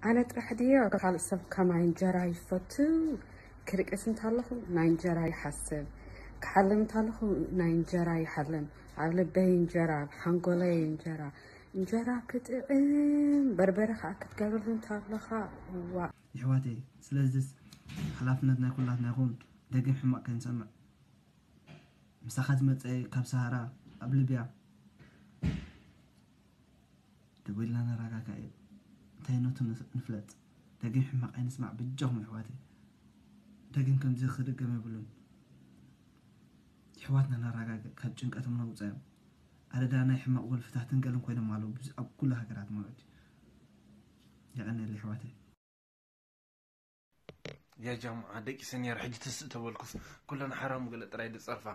ኣነ ጥራሕ ድየ ካልእ ሰብ ከማይ እንጀራ ይፈቱ? ክድቅስ እንተለኹ ናይ እንጀራ ይሓስብ፣ ክሓልም እንተለኹ ናይ እንጀራ ይሓልም። ኣብ ልበይ እንጀራ፣ ኣብ ሓንጎለይ እንጀራ። እንጀራ ክጥዕም፣ በርበረ ከዓ ክትገብርሉ እንተለኻ፣ ዋ። ይሕዋተይ፣ ስለዚስ ሓላፍነት ናይ ኩላትና ይኹን። ደጊም ሕማቕ ከይንሰምዕ። ምሳኻ ዝመጸ ካብ ሰሃራ ኣብ ልብያ ደዊልና ነረጋጋእ እዩ። እንታይ ነቱ ንስ- ንፍለጥ። ደጊም ሕማቕ ኣይንስማዕ በጃኹም ይሕዋተይ። ደጊም ከምዚ ክድገም የብሉን። ይሕዋትና ነረጋጋእ፣ ካብ ጭንቀቶም ነውፀዮም። ኣደዳ ናይ ሕማቕ ወልፍታትን ገለን ኮይኖም ኣለዉ ብዙ ኣብ ኩሉ ሃገራት ማለት እዩ። የቐንየለይ ይሕዋተይ። ያ ጃምዓ ደቂሰ ነይረ ሕጂ ትስእ ተበልኩስ ኩለን ሓራሙ ገለ ጥራይ ድጸርፋ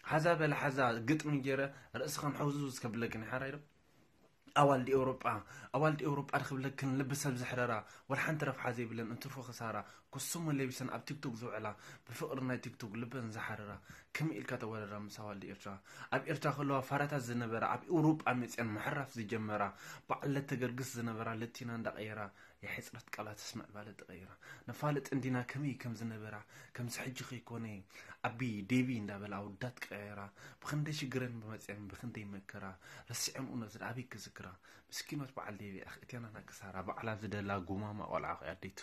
ሓዛ በለ ሓዛ ግጥሚ ገይረ ርእስኻን ሕውዝውዝ ከብለክን ሓራይ ዶ ኣዋልዲ ኤውሮጳ ኣዋልዲ ኤውሮጳ ድክብለክን ልቢ ሰብ ዘሕረራ ወላ ሓንቲ ረብሓ ዘይብለን እንትርፎ ክሳራ ኩሱሞ ለቢሰን ኣብ ቲክቶክ ዝውዕላ ብፍቕሪ ናይ ቲክቶክ ልበን ዝሓረራ ከመይ ኢልካ ተወዳድራ ምስ ኣዋልዲ ኤርትራ ኣብ ኤርትራ ከለዋ ፋራታት ዝነበራ ኣብ ኤውሮጳ መፅአን ምሕራፍ ዝጀመራ በዓል ለተገርግስ ዝነበራ ለቲና እንዳቀየራ የሕፅረት ቃላት ምስ ምዕባለ ተቐይራ ነፋልጥ እንዲና ከመይ ከም ዝነበራ ከምዚ ሕጂ ከይኮነ ኣቢ ዴቢ እንዳበላ ኣወዳት ቀያየራ ብኽንደይ ሽግረን ብመፅአን ብኽንደይ መከራ ረሲዐን እውነት ኣበይ ክዝክራ ምስኪኖት በዓል ዴቢ ኣኽእቴና ናክሳራ ባዕላ ዝደላ ጉማማ ቆልዓ ኣደይቱ